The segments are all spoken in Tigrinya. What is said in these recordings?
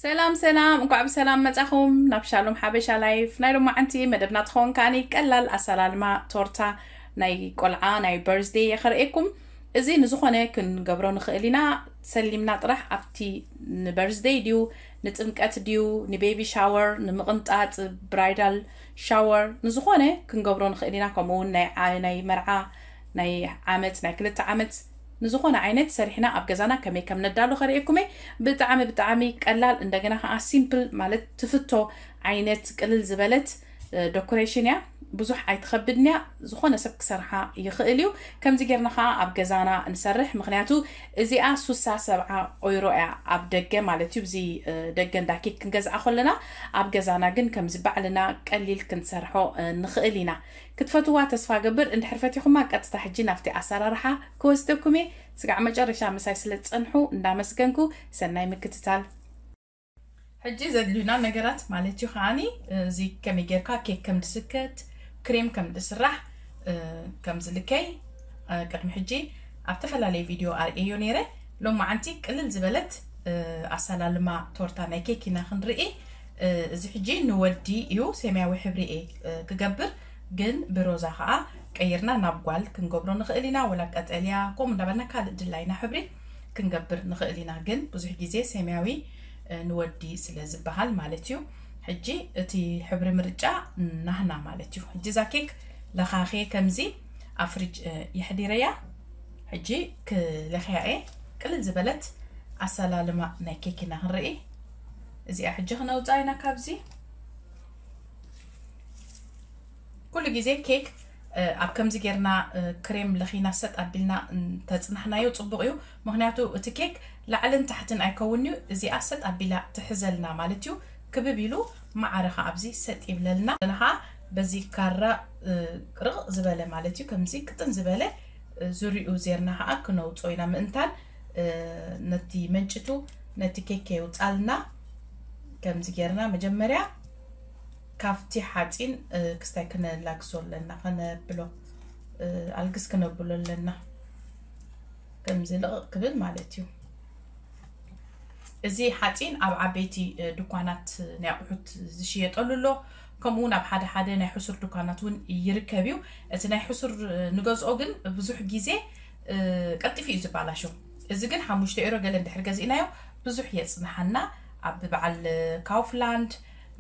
ሰላም ሰላም፣ እንኳዕ ብሰላም መጻኹም ናብ ሻሎም ሓበሻ ላይፍ። ናይ ሎማዓንቲ መደብና ትኸውን ከኣኒ ቀላል ኣሰላልማ ቶርታ ናይ ቆልዓ ናይ በርዝደይ የኸርእየኩም። እዚ ንዝኾነ ክንገብሮ ንኽእል ኢና። ሰሊምና ጥራሕ ኣብቲ ንበርዝደይ ድዩ፣ ንጥምቀት ድዩ፣ ንቤቢ ሻወር፣ ንምቕንጣጥ ብራይዳል ሻወር፣ ንዝኾነ ክንገብሮ ንኽእል ኢና። ከምኡ እውን ናይ ዓ- ናይ መርዓ ናይ ዓመት ናይ ክልተ ዓመት ንዝኾነ ዓይነት ሰሪሕና ኣብ ገዛና ከመይ ከም ነዳሉ ከርእየኩም እየ። ብጣዕሚ ብጣዕሚ ቀላል እንደገና ከዓ ሲምፕል ማለት ትፍቶ ዓይነት ቅልል ዝበለት ደኮሬሽን እያ። ብዙሕ ኣይትኸብድን እያ። ዝኾነ ሰብ ክሰርሓ ይኽእል እዩ። ከምዚ ጌርና ከዓ ኣብ ገዛና ንሰርሕ። ምክንያቱ እዚኣ ሱሳ ሰብዓ ኦይሮ እያ ኣብ ደገ ማለት እዩ። እዚ ደገ እንዳ ኬክ ክንገዝኣ ከለና ኣብ ገዛና ግን ከምዚ ባዕልና ቀሊል ክንሰርሖ ንኽእል ኢና። ክትፈትዋ ተስፋ ገብር። እንድሕር ፈቲኹማ ቀጥታ ሕጂ ናብቲ ኣሰራርሓ ክወስደኩም እየ። ስጋዕ መጨረሻ ምሳይ ስለ ዝጸንሑ እንዳመስገንኩ ሰናይ ምክትታል። ሕጂ ዘድልዩና ነገራት ማለት እዩ ከዓኒ እዚ ከመይ ጌርካ ኬክ ከም ድስከት ክሬም ከም ድስራሕ ከም ዝልከይ ቅድሚ ሕጂ ኣብ ተፈላለየ ቪድዮ ኣርእዮ ነይረ። ሎማዓንቲ ቅልል ዝበለት ኣሰላልማ ቶርታ ናይ ኬክ ኢና ክንርኢ። እዚ ሕጂ ንወዲ እዩ ሰማያዊ ሕብሪ እየ ክገብር፣ ግን ብሮዛ ከዓ ቀይርና ናብ ጓል ክንገብሮ ንኽእል ኢና፣ ወላ ቀጠልያ ከምኡ እንዳበልና ካልእ ድላይና ሕብሪ ክንገብር ንኽእል ኢና። ግን ብዙሕ ግዜ ሰማያዊ ንወዲ ስለ ዝበሃል ማለት እዩ። ሕጂ እቲ ሕብሪ ምርጫ ናህና ማለት እዩ። ሕጂ እዛ ኬክ ለኻኽየ ከምዚ ኣብ ፍሪጅ የሕዲረያ። ሕጂ ክለኽያ እየ። ቅልል ዝበለት ኣሰላልማ ናይ ኬክ ኢና ክንርኢ። እዚኣ ሕጂ ክነውፃ ኢና ካብዚ። ኩሉ ግዜ ኬክ ኣብ ከምዚ ጌርና ክሬም ለኺና ሰጥ ኣቢልና እንተፅናሕናዮ ፅቡቕ እዩ። ምክንያቱ እቲ ኬክ ላዕልን ታሕትን ኣይከውን እዩ። እዚኣ ሰጥ ኣቢላ ትሕዘልና ማለት እዩ። ክብብ ኢሉ ማዕረ ከዓ ኣብዚ ሰጥ ይብለልና። ንኻ በዚ ካራ ርቕ ዝበለ ማለት እዩ። ከምዚ ቅጥን ዝበለ ዙሪኡ ዜርና ከዓ ክነውፅኦ ኢና። ምእንታን ነቲ መንጭቱ ነቲ ኬክ የውፃልና። ከምዚ ጌርና መጀመርያ ካብቲ ሓፂን ክስታይ ክነላግሶ ኣለና፣ ከነብሎ ኣልግስ ክነብሎ ኣለና። ከምዚ ልቕቕ ክብል ማለት እዩ። እዚ ሓፂን ኣብ ዓበይቲ ድኳናት ናይ ኣቑሑት ዝሽየጠሉ ኣሎ። ከምኡ እውን ኣብ ሓደ ሓደ ናይ ሕሱር ድኳናት እውን ይርከብ እዩ። እቲ ናይ ሕሱር ንገዝኦ ግን ብዙሕ ግዜ ቀልጢፉ እዩ ዝባላሾ። እዚ ግን ሓሙሽተ ኤሮ ገለ እንድሕር ገዚእናዮ ብዙሕ የፅንሓና። ኣብ በዓል ካውፍላንድ፣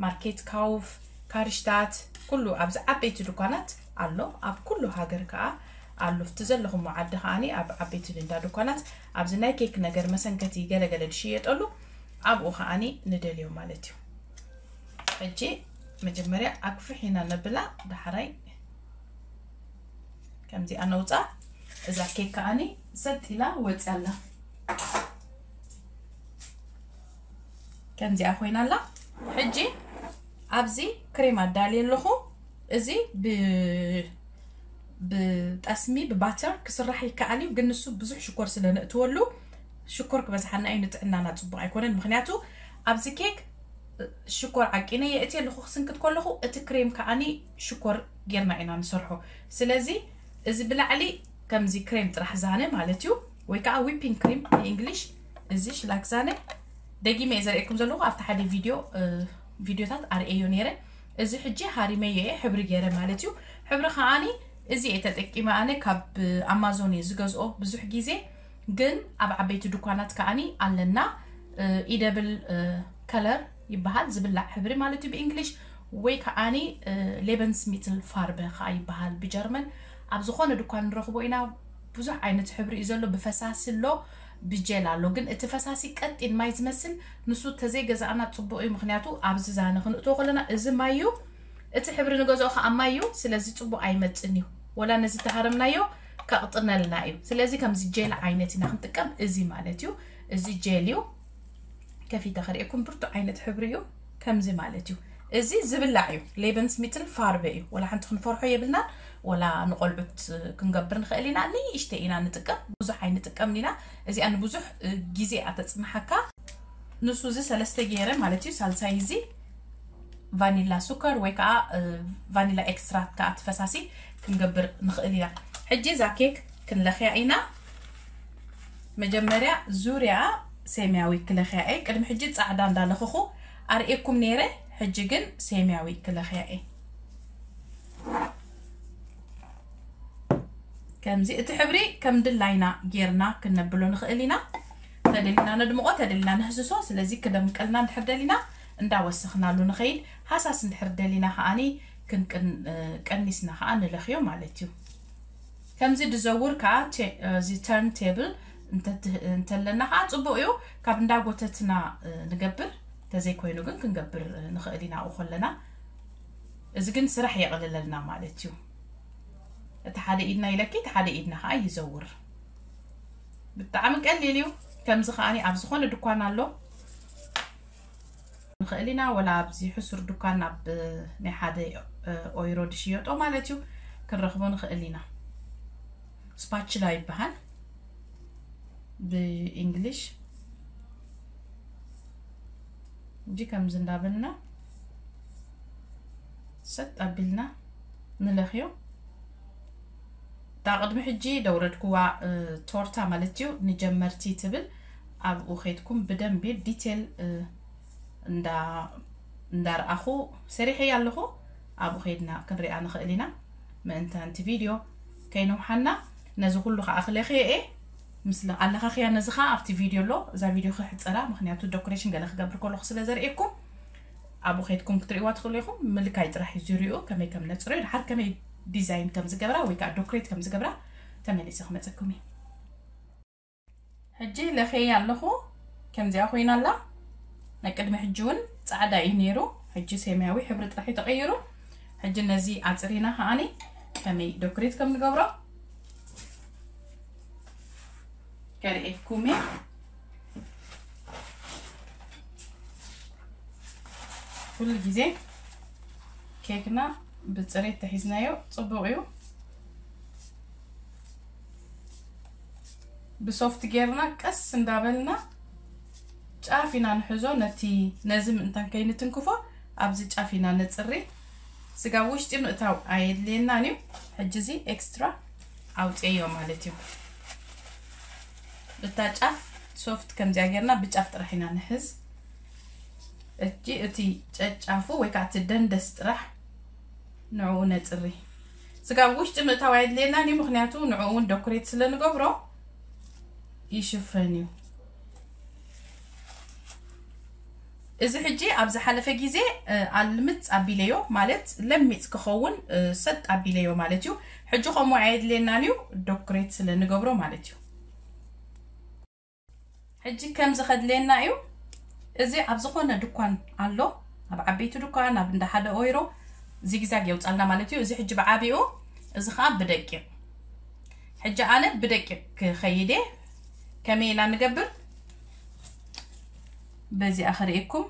ማርኬት ካውፍ፣ ካርሽታት፣ ኩሉ ኣብዚ ዓበይቲ ድኳናት ኣሎ። ኣብ ኩሉ ሃገር ከዓ ኣሎ። ኣብቲ ዘለኹሞ ዓዲ ከዓኒ ኣብ ዓበይቲ እንዳ ድኳናት ኣብዚ ናይ ኬክ ነገር መሰንከቲ ገለገለ ዝሽየጠሉ ኣብኡ ከዓኒ ንደልዮ ማለት እዩ። ሕጂ መጀመርያ ኣግፍሕ ኢና ነብላ፣ ዳሕራይ ከምዚኣ ነውፃ። እዛ ኬክ ከዓኒ ሰጥ ኢላ ወፅያ ኣላ። ከምዚኣ ኮይና ኣላ። ሕጂ ኣብዚ ክሬም ኣዳልየ ኣለኹ። እዚ ብ ብጠስሚ ብባተር ክስራሕ ይከኣል እዩ፣ ግን ንሱ ብዙሕ ሽኮር ስለ ነእትወሉ ሽኮር ክበዝሓና እዩ፣ ንጥዕናና ጽቡቕ ኣይኮነን። ምክንያቱ ኣብዚ ኬክ ሽኮር ዓቂነ የእትየ ኣለኹ፣ ክስንክት ከለኹ እቲ ክሬም ከዓኒ ሽኮር ጌርና ኢና ንሰርሖ። ስለዚ እዚ ብላዕሊ ከምዚ ክሬም ጥራሕ ዛነ ማለት እዩ፣ ወይ ከዓ ዊፒንግ ክሪም ብእንግሊሽ፣ እዚ ሽላክ ዛነ ደጊመ እየ ዘርእየኩም ዘለኹ። ኣብቲ ሓደ ቪድዮ ቪድዮታት ኣርእየዮ ነይረ። እዚ ሕጂ ሃሪመዮ እየ ሕብሪ ገይረ ማለት እዩ። ሕብሪ ከዓኒ እዚ እየ ተጠቂመ፣ ኣነ ካብ ኣማዞን እየ ዝገዝኦ ብዙሕ ግዜ፣ ግን ኣብ ዓበይቲ ድኳናት ከዓኒ ኣለና። ኢደብል ከለር ይበሃል፣ ዝብላዕ ሕብሪ ማለት እዩ ብእንግሊሽ፣ ወይ ከዓኒ ሌበንስ ሚትል ፋርበ ከዓ ይበሃል ብጀርመን። ኣብ ዝኾነ ድኳን ንረኽቦ ኢና። ብዙሕ ዓይነት ሕብሪ እዩ ዘሎ። ብፈሳሲ ኣሎ፣ ብጀል ኣሎ። ግን እቲ ፈሳሲ ቀጢን ማይ ዝመስል ንሱ ተዘይገዛእና ጽቡቕ እዩ። ምክንያቱ ኣብዚ ዛነ ክንእትዎ ከለና እዚ ማይ እዩ፣ እቲ ሕብሪ ንገዝኦ ከዓ ማይ እዩ። ስለዚ ጽቡቕ ኣይመጽን እዩ። ወላ ነዚ ተሃረምናዮ ከቕጥነልና እዩ። ስለዚ ከምዚ ጀል ዓይነት ኢና ክንጥቀም። እዚ ማለት እዩ፣ እዚ ጀል እዩ። ከፊተ ከርእየኩም ብርቱዕ ዓይነት ሕብሪ እዩ። ከምዚ ማለት እዩ። እዚ ዝብላዕ እዩ። ሌበንስ ሚትል ፋርበ እዩ። ወላ ሓንቲ ክንፈርሖ የብልናን። ወላ ንቆልዑት ክንገብር ንኽእል ኢና። ንእሽተይ ኢና ንጥቀም፣ ብዙሕ ኣይንጥቀምን ኢና። እዚኣ ንብዙሕ ግዜ እያ ተጽንሓካ። ንሱ እዚ ሰለስተ ገይረ ማለት እዩ። ሳልሳይ እዚ ቫኒላ ሱከር ወይ ከዓ ቫኒላ ኤክስትራክት ከዓ እቲ ፈሳሲ ክንገብር ንኽእል ኢና። ሕጂ እዛ ኬክ ክንለኽያ ኢና። መጀመርያ ዙርያ ሰማያዊ ክለኽያ እየ። ቅድሚ ሕጂ ጻዕዳ እንዳለኽኹ ኣርእየኩም ነይረ። ሕጂ ግን ሰማያዊ ክለኽያ እየ። ከምዚ እቲ ሕብሪ ከም ድላይና ጌርና ክነብሎ ንኽእል ኢና። ተደሊና ነድምቆ፣ ተደሊና ነህስሶ። ስለዚ ክደምቀልና እንድሕር ደሊና እንዳወሰኽናሉ ንኸይድ። ሃሳስ እንድሕር ደሊና ከዓኒ ክንቅን-፣ እ፣ ቀኒስና ከዓ ንለኽዮ ማለት እዩ። ከምዚ ድዘውር ከዓ ቴ-፣ እዚ ተርን ቴብል እንተ-፣ እንተለና ከዓ ጽቡቕ እዩ። ካብ እንዳጎተትና፣ እ፣ ንገብር፣ ተዘይኮይኑ ግን ክንገብር፣ እ፣ ንኽእል ኢና ኣብኡ ከለና። እዚ ግን ስራሕ የቕልለልና ማለት እዩ። እቲ ሓደ ኢድና ይለኪ፣ እቲ ሓደ ኢድና ከዓ ይዘውር። ብጣዕሚ ቀሊል እዩ። ከምዚ ከዓኒ ኣብ ዝኾነ ድኳን ኣሎ። ንኽእል ኢና፣ ወላ ኣብዚ ሕሱር ድኳን ኣብ ናይ ሓደ፣ እ፣ ኦይሮ ድሽየጦ ማለት እዩ፣ ክንረኽቦ ንኽእል ኢና። ስፓችላ ይበሃል ብእንግሊሽ። እንጂ ከምዚ እንዳበልና ሰጥ ኣቢልና ንለኽዮ። እታ ቅድሚ ሕጂ ደውረድክዋ፣ እ፣ ቶርታ ማለት እዩ፣ ንጀመርቲ ትብል። ኣብኡ ኸይድኩም ብደንቢ ዲቴል፣ እ፣ እንዳ-፣ እንዳረኣኹ ሰሪሐያ ኣለኹ። ኣብኡ ኸይድና ክንሪኣ ንኽእል ኢና። ምእንታን እቲ ቪድዮ ከይነውሓና፣ ነዚ ኩሉ ኸዓ ክለኽየ እየ። ምስ ለ-፣ ኣለኻኽያ ነዚ ኸዓ ኣብቲ ቪድዮ ኣሎ። እዛ ቪድዮ ክሕጸራ፣ ምኽንያቱ ዶኮሬሽን ገለ ክገብር ከለኹ ስለ ዘርእየኩም፣ ኣብኡ ኸይድኩም ክትርእይዋ ትኽእሉ ኢኹም። ምልካይ ጥራሕ እዩ ዝርእዩ፣ ከመይ ከም ነጽርዮ፣ ድሓር ከመይ ዲዛይን ከም ዝገብራ ወይ ከዓ ዶኮሬት ከም ዝገብራ ተመሊሰ ክመጸኩም እየ። ሕጂ ለኽየ ኣለኹ። ከምዚኣ ኮይና ኣላ። ናይ ቅድሚ ሕጂ እውን ጻዕዳ እዩ ነይሩ። ሕጂ ሰማያዊ ሕብሪ ጥራሕ እዩ ተቐይሩ። ሕጂ ነዚ ኣጽሪና ከዓኒ ከመይ ዶኮሬት ከም ንገብሮ ከርእየኩም እየ። ኩሉ ግዜ ኬክና ብጽሬት ተሒዝናዮ ጽቡቕ እዩ። ብሶፍት ጌርና ቀስ እንዳበልና ጫፍ ኢና ንሕዞ። ነቲ፣ ነዚ ምእንታን ከይንትንክፎ ኣብዚ ጫፍ ኢና ነጽሪ። ስጋ ውሽጢ ምእታው ኣየድልየናን እዩ። ሕጂ እዚ ኤክስትራ ኣውፅዮ ማለት እዩ። እታ ጫፍ ሶፍት ከምዚኣ ጌርና ብጫፍ ጥራሕ ኢና ንሕዝ። እጂ እቲ ጨጫፉ ወይ ከዓ እቲ ደንደስ ጥራሕ ንዕኡ ነፅሪ። ስጋ ኣብ ውሽጢ ምእታው ኣየድልየናን እዩ፣ ምኽንያቱ ንዕኡ እውን ደኩሬት ስለ ንገብሮ ይሽፈን እዩ። እዚ ሕጂ ኣብ ዝሓለፈ ግዜ፣ እ፣ ኣልምፅ ኣቢለዮ፣ ማለት ለሚፅ ክኸውን፣ እ፣ ሰጥ ኣቢለዮ ማለት እዩ። ሕጂ ከምኡ ኣየድልየናን እዩ፣ ደኩሬት ስለ ንገብሮ ማለት እዩ። ሕጂ ከምዚ ከድልየና እዩ። እዚ ኣብ ዝኾነ ድኳን ኣሎ፣ ኣብ ዓበይቲ ድኳን፣ ኣብ እንዳ ሓደ ኦይሮ ዚግዛግ የውፃልና ማለት እዩ። እዚ ሕጂ ብዓቢኡ እዚ ኸዓ ብደቂቕ። ሕጂ ኣነ ብደቂቕ ክኸይድ እየ። ከመይ ኢና ንገብር? በዚኣ ክርእየኩም።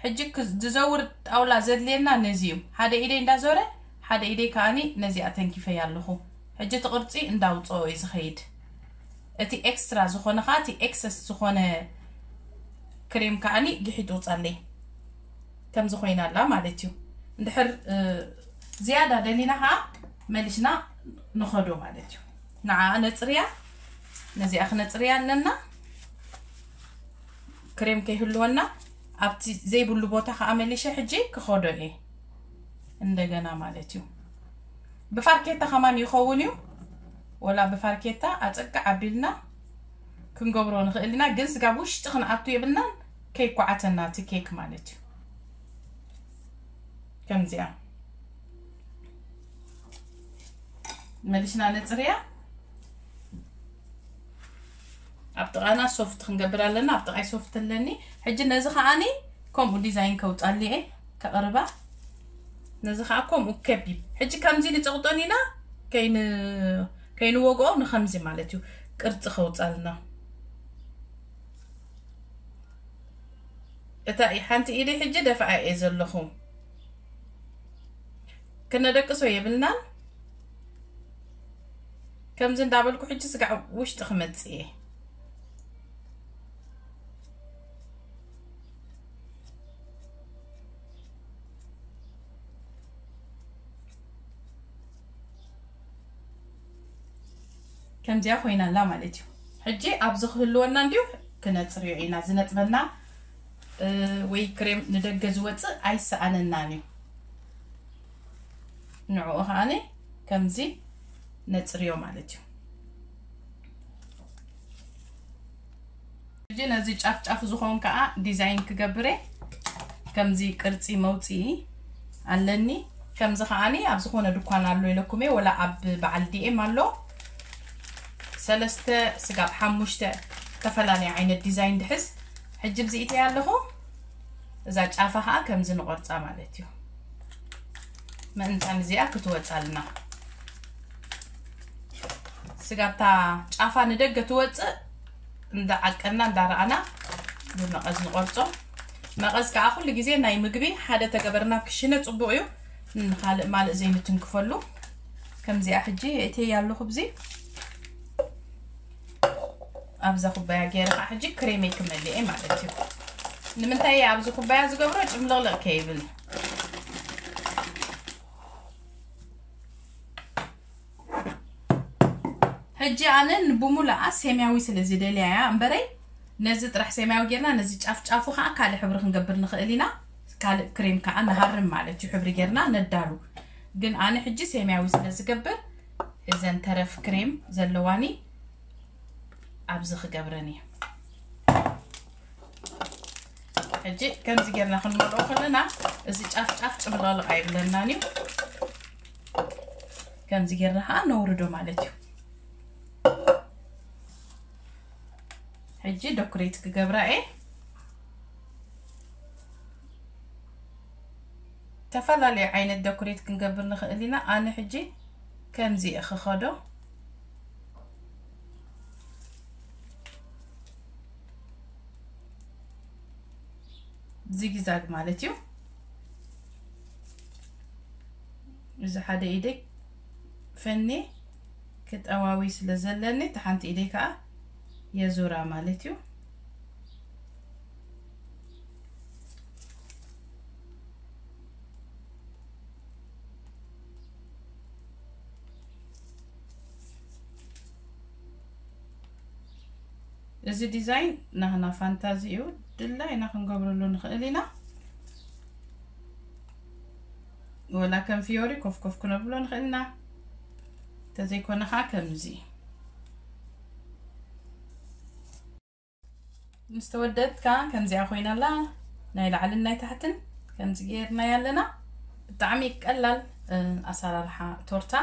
ሕጂ ክዝ-፣ ዝዘውር ጣውላ ዘድልየና ነዚ እዩ። ሓደ ኢደይ እንዳዞረ፣ ሓደ ኢደይ ከኣኒ ነዚኣ ተንኪፈያ ኣለኹ። ሕጂ እቲ ቅርጺ እንዳውፅኦ እዩ ዝኸይድ። እቲ ኤክስትራ ዝኾነ ኸዓ፣ እቲ ኤክሰስ ዝኾነ ክሬም ከኣኒ ግሒጡ ውፃለይ። ከምዚ ኮይና ኣላ ማለት እዩ። እንድሕር፣ እ፣ ዝያዳ ደሊና ኸዓ መሊስና ንኸዶ ማለት እዩ። ንዓ ነፅርያ፣ ነዚኣ ክነፅርያ ኣለና። ክሬም ከይህልወና ኣብቲ ዘይብሉ ቦታ ኸዓ መሊሸ ሕጂ ክኸዶ እየ እንደገና ማለት እዩ። ብፋርኬታ ከማን ይኸውን እዩ። ወላ ብፋርኬታ ኣፀግዕ ኣቢልና ክንገብሮ ንኽእል ኢና፣ ግን ስጋብ ውሽጢ ክንኣቱ የብልናን፣ ከይኳዓተና እቲ ኬክ ማለት እዩ። ከምዚኣ መሊስና ነፅርያ። ኣብ ጥቓና ሶፍት ክንገብር ኣለና። ኣብ ጥቓይ ሶፍት ኣለኒ። ሕጂ ነዚ ከዓኒ ከምኡ ዲዛይን ከውፃሉ እየ፣ ከቕርባ። ነዚ ከዓ ከምኡ ከቢብ። ሕጂ ከምዚ ንፀቕጦን ኢና፣ ከይን-፣ ከይንወግኦ ንኸምዚ ማለት እዩ፣ ቅርፂ ከውፃልና። እታ ሓንቲ ኢደይ ሕጂ ደፍኣ እየ ዘለኹ። ክነደቅሶ የብልናን። ከምዚ እንዳበልኩ ሕጂ ስጋዕ ውሽጢ ክመጽእ እየ። ከምዚኣ ኮይና ኣላ ማለት እዩ። ሕጂ ኣብዚ ክህልወና እንዲዩ ክነጽርዮ ኢና። ዝነጥበና ወይ ክሬም ንደገ ዝወፅእ ኣይሰኣነናን እዩ። ንዕኡ ከዓኒ ከምዚ ነፅርዮ ማለት እዩ። ሕጂ ነዚ ጫፍ ጫፍ ዝኸውን ከዓ ዲዛይን ክገብር እየ። ከምዚ ቅርፂ መውፅኢ ኣለኒ። ከምዚ ከዓኒ ኣብ ዝኾነ ድኳን ኣሎ ኢለኩም እየ፣ ወላ ኣብ በዓል ዲኤም ኣሎ። ሰለስተ ስጋብ ሓሙሽተ ዝተፈላለየ ዓይነት ዲዛይን ድሕዝ። ሕጂ ብዚ ኢተያ ኣለኹ። እዛ ጫፋ ከዓ ከምዚ ንቆርፃ ማለት እዩ። ምእንታን እዚኣ ክትወፃልና ስጋብታ ጫፋ ንደገ ትወፅእ እንዳዓቀና እንዳረኣና ብመቐዝ ንቆርፆ። መቐዝ ከዓ ኩሉ ግዜ ናይ ምግቢ ሓደ ተገበርና ክሽነ ፅቡቕ እዩ። ንኻልእ ማልእ ዘይንትንክፈሉ። ከምዚኣ ሕጂ እተያ ኣለኹ ብዚ ኣብዛ ኩባያ ገይረ ከዓ ሕጂ ክሬመይ ክመልኤ ማለት እዩ። ንምንታይ እየ ኣብዚ ኩባያ ዝገብሮ? ጭምልቕልቕ ከይብል። ሕጂ ኣነ ንብሙሉኣ ሰማያዊ ስለ ዝደልያ እያ እምበረይ፣ ነዚ ጥራሕ ሰማያዊ ጌርና ነዚ ጫፍ ጫፉ ከዓ ካልእ ሕብሪ ክንገብር ንኽእል ኢና። ካልእ ክሬም ከዓ ንሃርም ማለት እዩ፣ ሕብሪ ጌርና ነዳሉ። ግን ኣነ ሕጂ ሰማያዊ ስለ ዝገብር እዘን ተረፍ ክሬም ዘለዋኒ ኣብዚ ክገብረን እየ። ሕጂ ከምዚ ጌርና ክንመልኦ ከለና እዚ ጫፍ ጫፍ ጭምልቕልቕ ኣይብለናን እዩ። ከምዚ ጌርና ከዓ ነውርዶ ማለት እዩ። ሕጂ ዶክሬት ክገብራ እየ። ዝተፈላለዩ ዓይነት ዶክሬት ክንገብር ንኽእል ኢና። ኣነ ሕጂ ከምዚ እየ ክኸዶ። ዚግዛግ ማለት እዩ። እዚ ሓደ ኢደይ ፈኒ ክጠዋዊ ስለ ዘለኒ፣ እቲ ሓንቲ ኢደይ ከዓ የዙራ ማለት እዩ። እዚ ዲዛይን ናህና ፋንታዚ እዩ፣ ድላይና ክንገብረሉ ንኽእል ኢና። ወላ ከም ፊዮሪ ኮፍ ኮፍ ክነብሎ ንኽእል ኢና። እንተዘይኮነ ከዓ ከምዚ ምስ ተወደት ከዓ ከምዚኣ ኮይና ኣላ። ናይ ላዕልን ናይ ታሕትን ከምዚ ጌርናያ ኣለና። ብጣዕሚ ቀላል፣ እ፣ ኣሰራርሓ ቶርታ።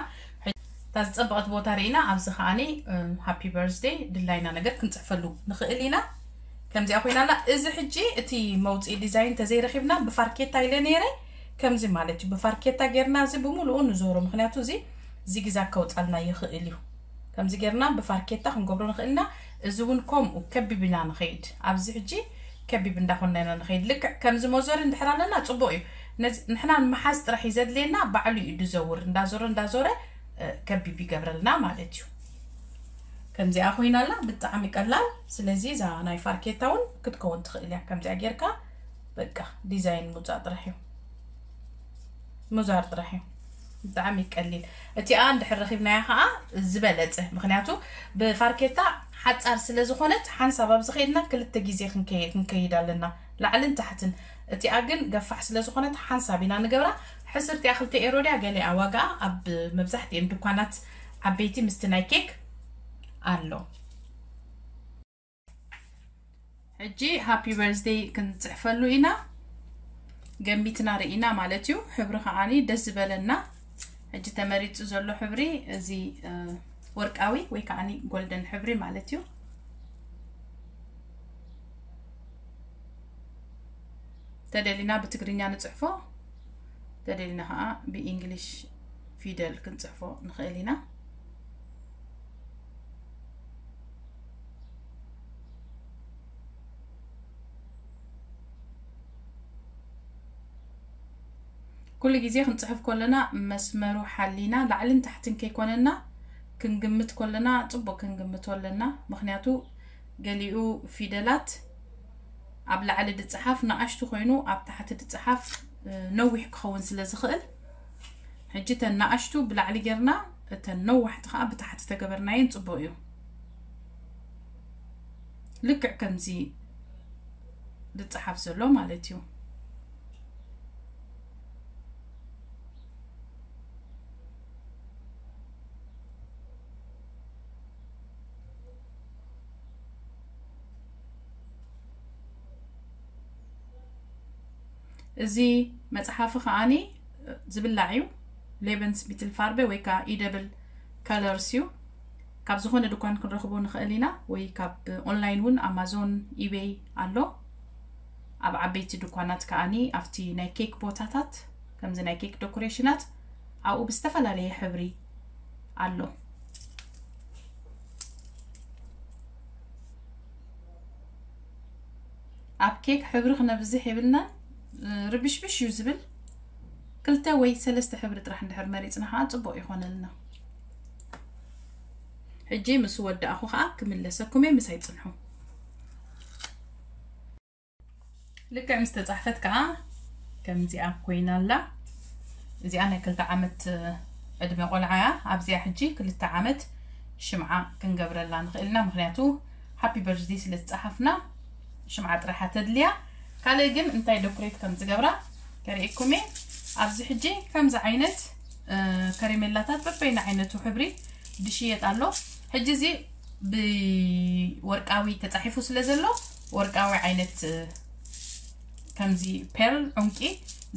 ሕጂ እታ ዝጸበቐት ቦታ ርኢና፣ ኣብዚ ከዓኒ፣ እ፣ ሃፒ በርዝደይ ድላይና ነገር ክንጽሕፈሉ ንኽእል ኢና። ከምዚኣ ኮይና ኣላ። እዚ ሕጂ እቲ መውጽኢ ዲዛይን እንተዘይረኺብና ብፋርኬታ ኢለ ነይረ። ከምዚ ማለት እዩ። ብፋርኬታ ጌርና እዚ ብምሉኡ ንዞሮ። ምኽንያቱ እዚ ዚግዛግ ከውጻልና ይኽእል እዩ። ከምዚ ጌርና ብፋርኬታ ክንገብሮ ንኽእል ኢና። እዚ እውን ከምኡ ከቢብ ኢና ንኸይድ። ኣብዚ ሕጂ ከቢብ እንዳኾንና ኢና ንኸይድ። ልክዕ ከምዚ መዞሪ እንድሕር ኣለና ጽቡቕ እዩ። ነዚ ንሕና ንምሓዝ ጥራሕ እዩ ዘድልየና። ባዕሉ እዩ ዝዘውር። እንዳዞረ እንዳዞረ፣ እ፣ ከቢብ ይገብረልና ማለት እዩ። ከምዚኣ ኮይና ኣላ፣ ብጣዕሚ ቀላል። ስለዚ እዛ ናይ ፋርኬታ እውን ክትከውን ትኽእል እያ። ከምዚኣ ጌርካ በቃ ዲዛይን ምውጻእ ጥራሕ እዩ። ምዛር ጥራሕ እዩ። ብጣዕሚ ቀሊል። እቲኣ እንድሕር ረኺብናያ ከዓ ዝበለጸ። ምኽንያቱ ብፋርኬታ ሓጻር ስለ ዝኾነት ሓንሳብ ኣብዚ ከይድና ክልተ ግዜ ክንከይ-፣ ክንከይድ ኣለና። ላዕልን ታሕትን። እቲኣ ግን ገፋሕ ስለ ዝኾነት ሓንሳብ ኢና ንገብራ። ሕስርቲኣ ክልተ ኤሮ ድያ ገሊኣ ዋጋኣ ኣብ መብዛሕትኤን ድኳናት ዓበይቲ ምስቲ ናይ ኬክ ኣሎ። ሕጂ ሃፒ በርዝደይ ክንጽሕፈሉ ኢና። ገሚትና ርኢና ማለት እዩ። ሕብሪ ከዓኒ ደስ ዝበለና። ሕጂ ተመሪጹ ዘሎ ሕብሪ እዚ፣ እ፣ ወርቃዊ ወይ ከዓኒ ጎልደን ሕብሪ ማለት እዩ። ተደሊና ብትግርኛ ንጽሕፎ፣ ተደሊና ከዓ ብኢንግሊሽ ፊደል ክንጽሕፎ ንኽእል ኢና። ኩሉ ግዜ ክንጽሕፍ ከለና መስመሩ ሓሊና ላዕልን ታሕትን ከይኮነና ክንግምት ከለና ጽቡቕ ክንግምቶ ኣለና። ምኽንያቱ ገሊኡ ፊደላት ኣብ ላዕሊ ድጽሓፍ ንኣሽቱ ኮይኑ ኣብ ታሕቲ ድጽሓፍ ነዊሕ ክኸውን ስለ ዝኽእል፣ ሕጂ እተን ንኣሽቱ ብላዕሊ ጌርና እተን ነዋሕቲ ከዓ ብታሕቲ ተገበርናየን ጽቡቕ እዩ። ልክዕ ከምዚ ዝጸሓፍ ዘሎ ማለት እዩ። እዚ መጽሓፊ ከዓኒ ዝብላዕ እዩ። ሌበንስ ሚትል ፋርበ ወይ ከዓ ኢደብል ከለርስ እዩ። ካብ ዝኾነ ድኳን ክንረኽቦ ንኽእል ኢና፣ ወይ ካብ ኦንላይን እውን ኣማዞን፣ ኢቤይ ኣሎ። ኣብ ዓበይቲ ድኳናት ከዓኒ ኣብቲ ናይ ኬክ ቦታታት ከምዚ ናይ ኬክ ዶኮሬሽናት ኣብኡ ብዝተፈላለየ ሕብሪ ኣሎ። ኣብ ኬክ ሕብሪ ክነብዝሕ የብልናን። ርብሽብሽ እዩ ዝብል። ክልተ ወይ ሰለስተ ሕብሪ ጥራሕ እንድሕር መሪፅና ከዓ ፅቡቅ ይኾነልና። ሕጂ ምስ ወዳእኹ ከዓ ክምለሰኩም እየ፣ ምሳይ ፅንሑ። ልክዕ ምስ ተፃሕፈት ከዓ ከምዚኣ ኮይና ኣላ። እዚኣ ናይ ክልተ ዓመት ዕድመ ቆልዓ እያ። ኣብዚኣ ሕጂ ክልተ ዓመት ሽምዓ ክንገብረላ ንኽእል ኢና፣ ምኽንያቱ ሃፒ በርዝዴ ስለ ዝፀሓፍና ሽምዓ ጥራሓ ተድልያ። ካልእ ግን እንታይ ዶክሬት ከም ዝገብራ ከርእየኩም እየ። ኣብዚ ሕጂ ከምዚ ዓይነት ከሬሜላታት በበይና ዓይነቱ ሕብሪ ድሽየጥ ኣሎ። ሕጂ እዚ ብወርቃዊ ተፃሒፉ ስለ ዘሎ ወርቃዊ ዓይነት ከምዚ ፔርል፣ ዑንቂ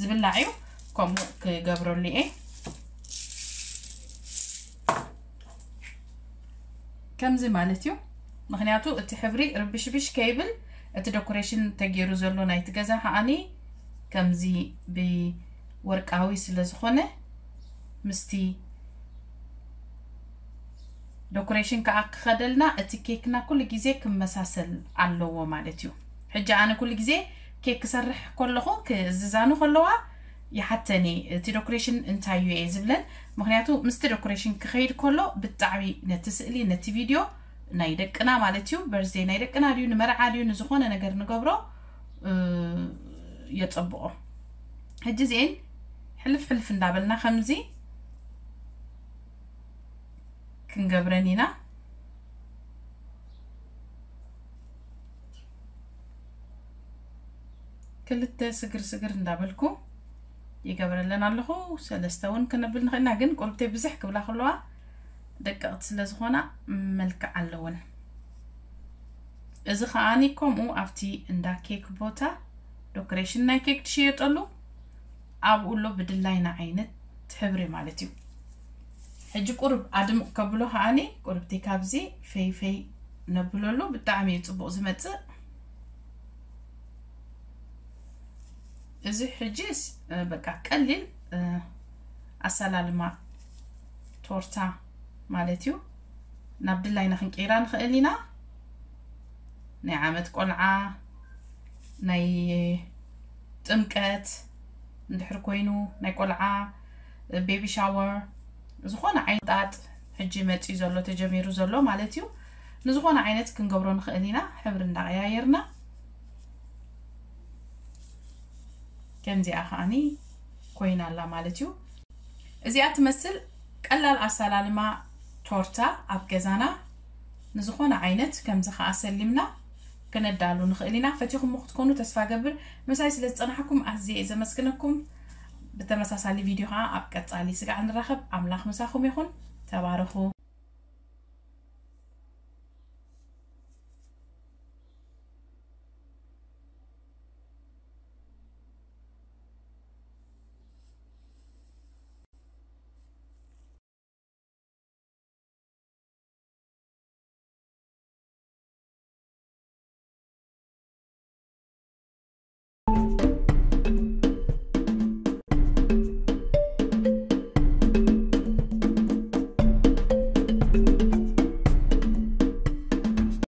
ዝብላዕ እዩ። ከምኡ ክገብረሉ እየ። ከምዚ ማለት እዩ። ምኽንያቱ እቲ ሕብሪ ርብሽብሽ ከይብል እቲ ዶኮሬሽን ተገይሩ ዘሎ ናይቲ ገዛ ከዓኒ ከምዚ ብወርቃዊ ስለ ዝኾነ ምስቲ ዶኮሬሽን ከዓ ክኸደልና እቲ ኬክና ኩሉ ግዜ ክመሳሰል ኣለዎ ማለት እዩ። ሕጂ ኣነ ኩሉ ግዜ ኬክ ክሰርሕ ከለኹ ክእዝዛኒ ከለዋ ይሓተኒ እቲ ዶኮሬሽን እንታይ እዩ እየ ዝብለን። ምኽንያቱ ምስቲ ዶኮሬሽን ክኸይድ ከሎ ብጣዕሚ ነቲ ስእሊ ነቲ ቪድዮ ናይ ደቅና ማለት እዩ፣ በርዝዴ ናይ ደቅና ድዩ ንመርዓ ድዩ ንዝኾነ ነገር ንገብሮ የፀብቆ። ሕጂ እዚኤን ሕልፍ ሕልፍ እንዳበልና ከምዚ ክንገብረን ኢና። ክልተ ስግር ስግር እንዳበልኩ ይገብረለን ኣለኹ። ሰለስተ እውን ክነብል ንኽእልና፣ ግን ቁርብተይ ብዝሕ ክብላ ከለዋ ደቀቕቲ ስለ ዝኾና መልክዕ ኣለወን። እዚ ከዓኒ ከምኡ ኣብቲ እንዳ ኬክ ቦታ ዶኮሬሽን ናይ ኬክ ትሽየጠሉ ኣብኡ ኣሎ ብድላይና ዓይነት ሕብሪ ማለት እዩ። ሕጂ ቁርብ ኣድምቕ ከብሎ ከዓኒ ቁርብቲ ካብዚ ፈይ ፈይ ነብለሉ ብጣዕሚ እዩ ጽቡቕ ዝመጽእ። እዚ ሕጂ በቃ ቀሊል ኣሰላልማ ቶርታ ማለት እዩ። ናብ ድላይና ክንቀይራ ንኽእል ኢና። ናይ ዓመት ቆልዓ፣ ናይ ጥምቀት እንድሕር ኮይኑ፣ ናይ ቆልዓ ቤቢ ሻወር፣ ዝኾነ ዓይነት ጣጥ ሕጂ መፅዩ ዘሎ ተጀሚሩ ዘሎ ማለት እዩ። ንዝኾነ ዓይነት ክንገብሮ ንኽእል ኢና ሕብሪ እንዳቀያየርና። ከምዚኣ ከዓኒ ኮይና ኣላ ማለት እዩ። እዚኣ ትመስል ቀላል ኣሰላልማ ቶርታ ኣብ ገዛና ንዝኾነ ዓይነት ከምዚ ከኣ ሰሊምና ክነዳሉ ንኽእል ኢና። ፈቲኹሞ ክትኮኑ ተስፋ ገብር። ምሳይ ስለ ዝጸናሕኩም ኣዝየ እየ ዘመስግነኩም። ብተመሳሳሊ ቪድዮ ከኣ ኣብ ቀጻሊ ስጋዕ ንራኸብ። ኣምላኽ ምሳኹም ይኹን። ተባረኹ።